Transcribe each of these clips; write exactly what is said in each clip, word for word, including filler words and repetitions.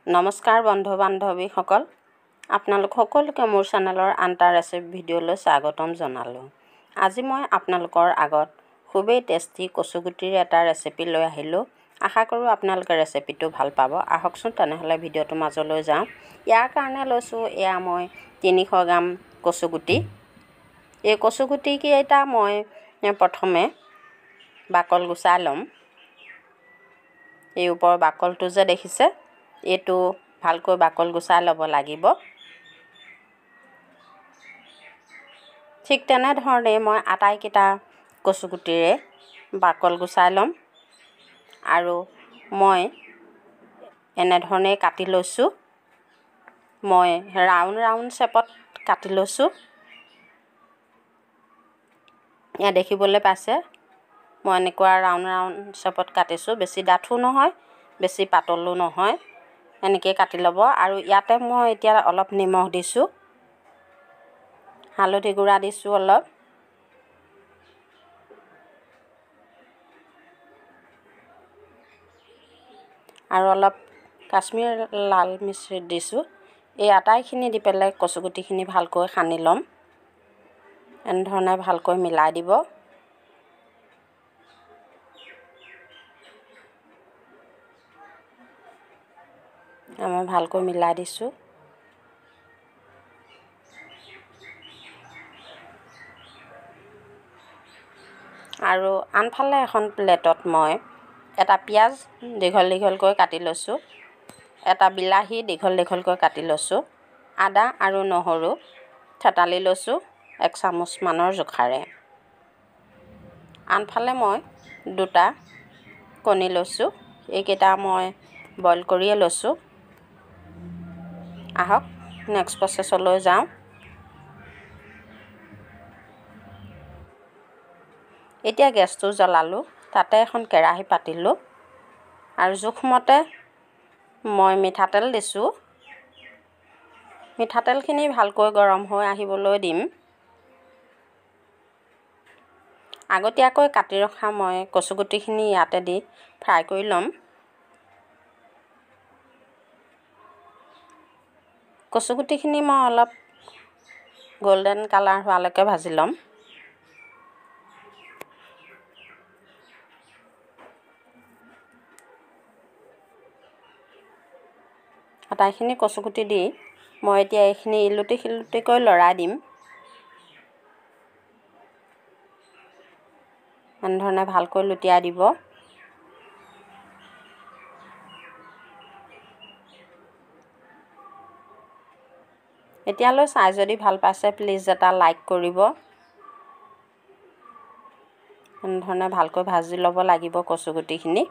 নমস্কাৰ বন্ধু বান্ধৱীসকল, আপোনালোক সকলোকে মোৰ চেনেলৰ আন এটা ৰেচিপি ভিডিঅ'লৈ স্বাগতম জনালোঁ। আজি মই আপোনালোকৰ আগত খুবেই টেষ্টি কচুগুটিৰ এটা ৰেচিপি লৈ আহিলোঁ। আশা কৰোঁ আপোনালোকে ৰেচিপিটো ভাল পাব। আহকচোন তেনেহ'লে ভিডিঅ'টোৰ মাজলৈ যাওঁ। ইয়াৰ কাৰণে লৈছোঁ এয়া মই তিনিশ গ্ৰাম কচুগুটি। এই কচুগুটিকেইটা মই প্ৰথমে বাকল গুচাই ল'ম। এই ওপৰৰ বাকলটো যে দেখিছে, এইটো ভালকৈ বাকল গুচাই ল'ব লাগিব। ঠিক তেনেধৰণে মই আটাইকেইটা কচুগুটিৰে বাকল গুচাই ল'ম। আৰু মই এনেধৰণে কাটি লৈছোঁ। মই ৰাউণ্ড ৰাউণ্ড শ্বেপত কাটি লৈছোঁ। এয়া দেখিবলৈ পাইছে, মই এনেকুৱা ৰাউণ্ড ৰাউণ্ড শ্বেপত কাটিছোঁ। বেছি ডাঠো নহয়, বেছি পাতলো নহয়, এনেকৈ কাটি ল'ব। আৰু ইয়াতে মই এতিয়া অলপ নিমখ দিছোঁ, হালধি গুড়া দিছোঁ অলপ, আৰু অলপ কাশ্মীৰ লাল মিশ্ৰিত দিছোঁ। এই আটাইখিনি দি পেলাই কচুগুটিখিনি ভালকৈ সানি ল'ম। এনেধৰণে ভালকৈ মিলাই দিব। মই ভালকৈ মিলাই দিছোঁ। আৰু আনফালে এখন প্লেটত মই এটা পিঁয়াজ দীঘল দীঘলকৈ কাটি লৈছোঁ, এটা বিলাহী দীঘল দীঘলকৈ কাটি লৈছোঁ, আদা আৰু নহৰু থেতালি লৈছোঁ এক চামুচমানৰ জোখাৰে। আনফালে মই দুটা কণী লৈছোঁ, এইকেইটা মই বইল কৰিয়ে লৈছোঁ। আহক নেক্সট প্ৰচেছলৈ যাওঁ। এতিয়া গেছটো জ্বলালোঁ, তাতে এখন কেৰাহী পাতিলোঁ আৰু জোখমতে মই মিঠাতেল দিছোঁ। মিঠাতেলখিনি ভালকৈ গৰম হৈ আহিবলৈ দিম। আগতীয়াকৈ কাটি ৰখা মই কচুগুটিখিনি ইয়াতে দি ফ্ৰাই কৰি ল'ম। কচুগুটিখিনি মই অলপ গল্ডেন কালাৰ হোৱালৈকে ভাজি ল'ম। আটাইখিনি কচুগুটি দি মই এতিয়া এইখিনি ইলুটি শিলুটিকৈ লৰাই দিম। এনেধৰণে ভালকৈ লুটিয়াই দিব। এতিয়ালৈ চাই যদি ভাল পাইছে প্লিজ এটা লাইক কৰিব। এনেধৰণে ভালকৈ ভাজি ল'ব লাগিব কচুগুটিখিনি।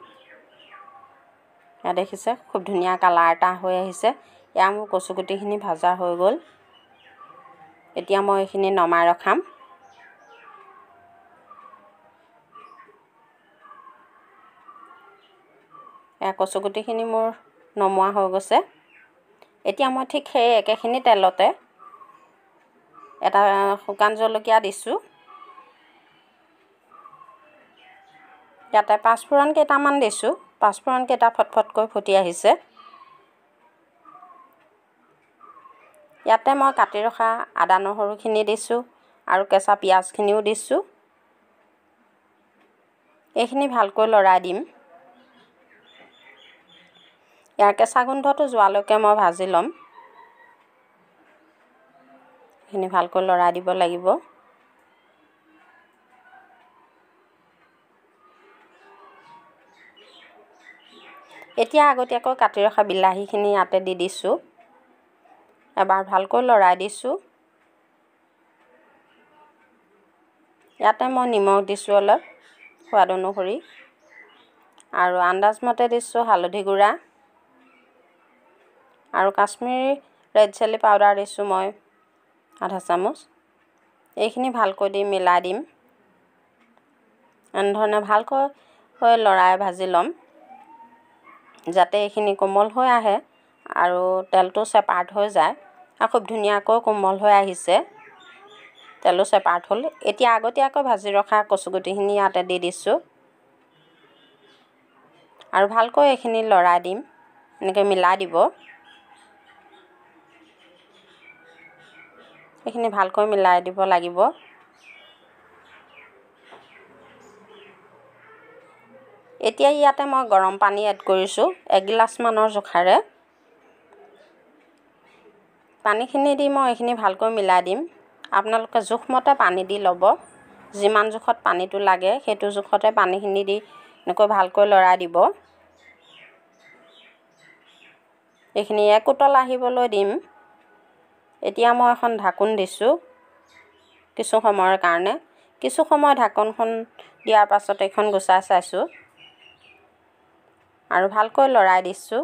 এয়া দেখিছে খুব ধুনীয়া কালাৰ এটা হৈ আহিছে। এয়া মোৰ কচুগুটিখিনি ভাজা হৈ গ'ল। এতিয়া মই এইখিনি নমাই ৰখাম। এয়া কচুগুটিখিনি মোৰ নমোৱা হৈ গৈছে। এতিয়া মই ঠিক সেই একেখিনি তেলতে এটা শুকান জলকীয়া দিছোঁ, ইয়াতে পাঁচফোৰণ কেইটামান দিছোঁ। পাঁচফোৰণ কেইটা ফটফটকৈ ফুটি আহিছে। ইয়াতে মই কাটি ৰখা আদা নহৰুখিনি দিছোঁ আৰু কেঁচা পিঁয়াজখিনিও দিছোঁ। এইখিনি ভালকৈ লৰাই দিম। ইয়াৰ কেঁচা গোন্ধটো যোৱালৈকে মই ভাজি ল'ম। এইখিনি ভালকৈ লৰাই দিব লাগিব। এতিয়া আগতীয়াকৈ কাটি ৰখা বিলাহীখিনি ইয়াতে দি দিছোঁ। এবাৰ ভালকৈ লৰাই দিছোঁ। ইয়াতে মই নিমখ দিছোঁ অলপ সোৱাদ অনুসৰি, আৰু আন্দাজমতে দিছোঁ হালধি গুড়া আৰু কাশ্মীৰী ৰেড চিলি পাউডাৰ দিছোঁ মই আধা চামুচ। এইখিনি ভালকৈ দি মিলাই দিম। এনেধৰণে ভালকৈ লৰাই ভাজি ল'ম, যাতে এইখিনি কোমল হৈ আহে আৰু তেলটো ছেপাৰেট হৈ যায়। আৰু খুব ধুনীয়াকৈ কোমল হৈ আহিছে, তেলো ছেপাৰেট হ'ল। এতিয়া আগতীয়াকৈ ভাজি ৰখা কচুগুটিখিনি ইয়াতে দি দিছোঁ আৰু ভালকৈ এইখিনি লৰাই দিম। এনেকৈ মিলাই দিব। এইখিনি ভালকৈ মিলাই দিব লাগিব। এতিয়া ইয়াতে মই গৰম পানী এড কৰিছোঁ এগিলাচমানৰ জোখাৰে। পানীখিনি দি মই এইখিনি ভালকৈ মিলাই দিম। আপোনালোকে জোখমতে পানী দি ল'ব, যিমান জোখত পানীটো লাগে সেইটো জোখতে পানীখিনি দি এনেকৈ ভালকৈ লৰাই দিব। এইখিনি এক উতল আহিবলৈ দিম। এতিয়া মই এখন ঢাকোন দিছোঁ কিছু সময়ৰ কাৰণে। কিছু সময় ঢাকোনখন দিয়াৰ পাছত এইখন গুচাই চাইছোঁ আৰু ভালকৈ লৰাই দিছোঁ।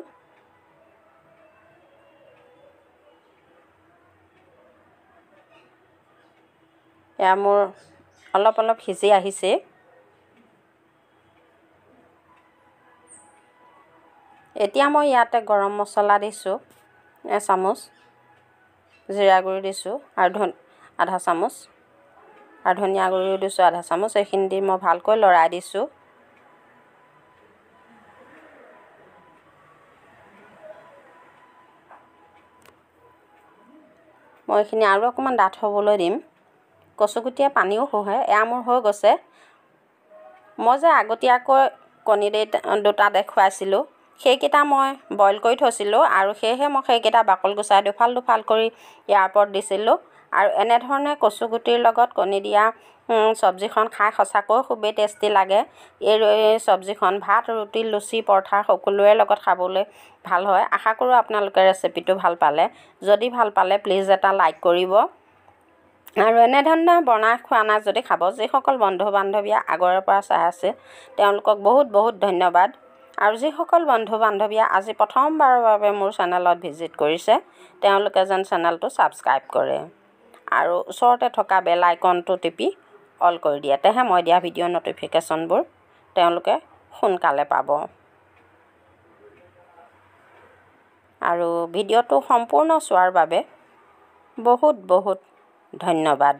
এয়া মোৰ অলপ অলপ সিজি আহিছে। এতিয়া মই ইয়াতে গৰম মছলা দিছোঁ এচামুচ, জিৰা গুড়ি দিছোঁ আৰু ধন আধা চামুচ আৰু ধনিয়া গুড়িও দিছোঁ আধা চামুচ। এইখিনি দি মই ভালকৈ লৰাই দিছোঁ। মই এইখিনি আৰু অকণমান ডাঠ হ'বলৈ দিম। কচুগুটিয়ে পানীও শুহে। এয়া মোৰ হৈ গৈছে। মই যে আগতীয়াকৈ কণী দুটা দেখুৱাইছিলোঁ সেইকেইটা মই বইল কৰি থৈছিলোঁ আৰু সেয়েহে মই সেইকেইটা বাকলি গুচাই দুফাল দুফাল কৰি ইয়াৰ ওপৰত দিছিলোঁ। আৰু এনেধৰণে কচুগুটিৰ লগত কণী দিয়া চব্জিখন খাই সঁচাকৈ খুবেই টেষ্টি লাগে। এই চব্জিখন ভাত, ৰুটি, লুচি, পৰঠা সকলোৰে লগত খাবলৈ ভাল হয়। আশা কৰোঁ আপোনালোকে ৰেচিপিটো ভাল পালে। যদি ভাল পালে প্লিজ এটা লাইক কৰিব আৰু এনেধৰণে বনাই খোৱা নাই যদি খাব। যিসকল বন্ধু বান্ধৱীয়ে আগৰে পৰা চাই আছে তেওঁলোকক বহুত বহুত ধন্যবাদ। আৰু যিসকল বন্ধু বান্ধৱীয়ে আজি প্ৰথমবাৰৰ বাবে মোৰ চেনেলত ভিজিট কৰিছে তেওঁলোকে যেন চেনেলটো ছাবস্ক্ৰাইব কৰে আৰু ওচৰতে থকা বেল আইকনটো টিপি অল কৰি দিয়ে, তেহে মই দিয়া ভিডিঅ' ন'টিফিকেশ্যনবোৰ তেওঁলোকে সোনকালে পাব। আৰু ভিডিঅ'টো সম্পূৰ্ণ চোৱাৰ বাবে বহুত বহুত ধন্যবাদ।